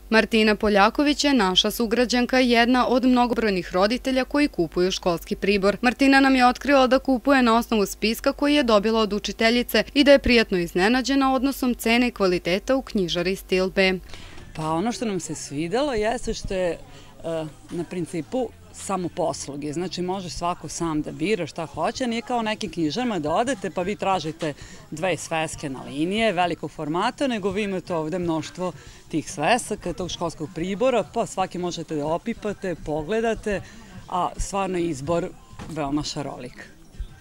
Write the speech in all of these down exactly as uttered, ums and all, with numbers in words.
Martina Poljaković je naša sugrađanka i jedna od mnogobrojnih roditelja koji kupuju školski pribor. Martina nam je otkrila da kupuje na osnovu spiska koji je dobila od učiteljice i da je prijatno iznenađena odnosom cene i kvaliteta u knjižari Stil B. Pa ono što nam se svidelo jeste što je na principu samoposluge. Znači može svako sam da bira šta hoće, nije kao nekim knjižarama da odete pa vi tražite dve sveske na linije velikog formata, nego vi imate ovde mnoštvo tih svesaka, tog školskog pribora, pa svaki možete da opipate, pogledate, a stvarno je izbor veoma šarolik.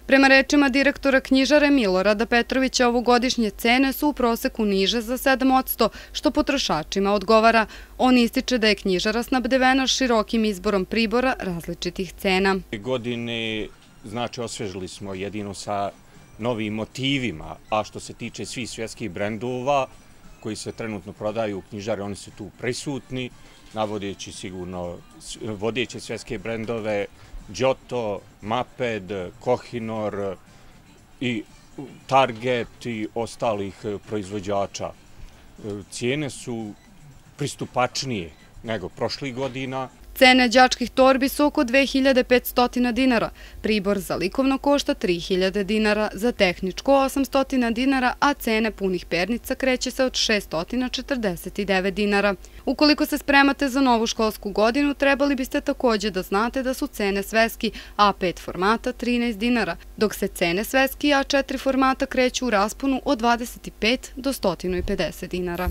Prema rečima direktora knjižare Milorada Petrovića, ovogodišnje cene su u proseku niže za sedam posto, što potrošačima odgovara. On ističe da je knjižara snabdevena širokim izborom pribora različitih cena. Godine, znači, osvežili smo jedino sa novim motivima, a što se tiče svih svjetskih brendova koji se trenutno prodaju u knjižari, oni su tu prisutni, navodeći sigurno vodeće svjetske brendove, Giotto, Maped, Kohinor i Target i ostalih proizvođača. Cijene su pristupačnije nego prošlih godina. Cene đačkih torbi su oko dve hiljade petsto dinara, pribor za likovno košta tri hiljade dinara, za tehničko osamsto dinara, a cene punih pernica kreće se od šeststo četrdeset devet dinara. Ukoliko se spremate za novu školsku godinu, trebali biste također da znate da su cene sveski A pet formata trinaest dinara, dok se cene sveski A četiri formata kreću u rasponu od dvadeset pet do sto pedeset dinara.